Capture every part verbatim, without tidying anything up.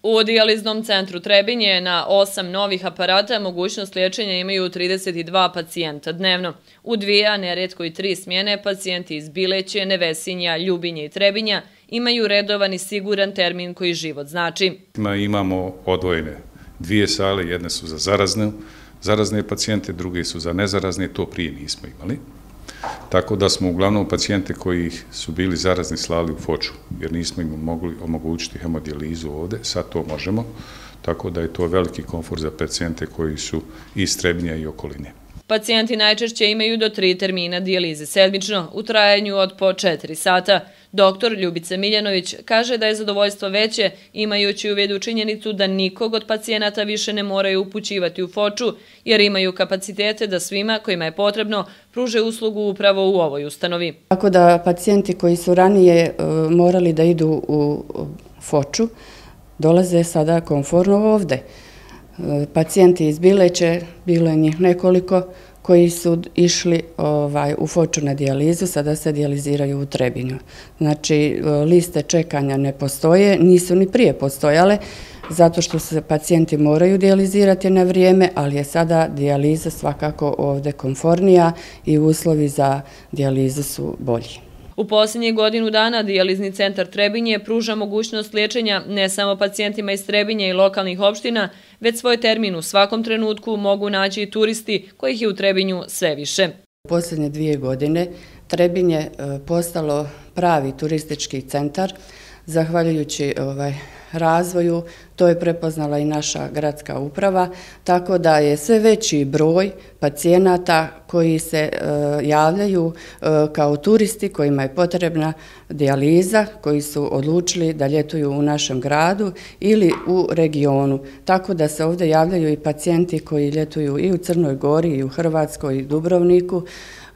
U dijaliznom centru Trebinje na osam novih aparata mogućnost liječenja imaju trideset dva pacijenta dnevno. U dvije, a nerijetko i tri smjene, pacijenti iz Bileće, Nevesinja, Ljubinje i Trebinja imaju redovan i siguran termin koji život znači. Imamo odvojene dvije sale, jedne su za zarazne, zarazne pacijente, druge su za nezarazne, to prije nismo imali. Tako da smo uglavnom pacijente koji su bili zarazni slali u Foču, jer nismo im mogli omogućiti hemodijalizu ovdje, sad to možemo, tako da je to veliki komfort za pacijente koji su iz Trebinja i okoline. Pacijenti najčešće imaju do tri termina dijalize sedmično, u trajanju od po četiri sata. Doktor Ljubica Miljanović kaže da je zadovoljstvo veće, imajući u vidu činjenicu da nikog od pacijenata više ne moraju upućivati u Foču, jer imaju kapacitete da svima kojima je potrebno pruže uslugu upravo u ovoj ustanovi. Tako da pacijenti koji su ranije morali da idu u Foču, dolaze sada komforno ovde. Pacijenti iz Bileće, bilo je njih nekoliko koji su išli ovaj, u Foču na dijalizu, sada se dijaliziraju u Trebinju. Znači, liste čekanja ne postoje, nisu ni prije postojale, zato što se pacijenti moraju dijalizirati na vrijeme, ali je sada dijaliza svakako ovde komfornija i uslovi za dijalizu su bolji. U posljednjih godinu dana dijalizni centar Trebinje pruža mogućnost liječenja ne samo pacijentima iz Trebinja i lokalnih opština, već svoj termin u svakom trenutku mogu naći i turisti kojih je u Trebinju sve više. U posljednje dvije godine Trebinje je postalo pravi turistički centar, zahvaljujući ovaj, razvoju, to je prepoznala i naša gradska uprava, tako da je sve veći broj pacijenata koji se e, javljaju e, kao turisti kojima je potrebna dijaliza, koji su odlučili da ljetuju u našem gradu ili u regionu. Tako da se ovdje javljaju i pacijenti koji ljetuju i u Crnoj Gori, i u Hrvatskoj, i Dubrovniku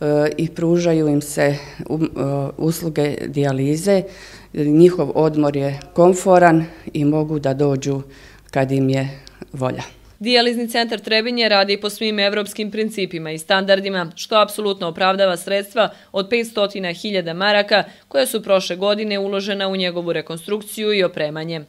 e, i pružaju im se e, usluge dijalize. Njihov odmor je komforan i mogu da dođu kad im je volja. Dijalizni centar Trebinje radi po svim evropskim principima i standardima, što apsolutno opravdava sredstva od petsto hiljada maraka koja su prošle godine uložena u njegovu rekonstrukciju i opremanje.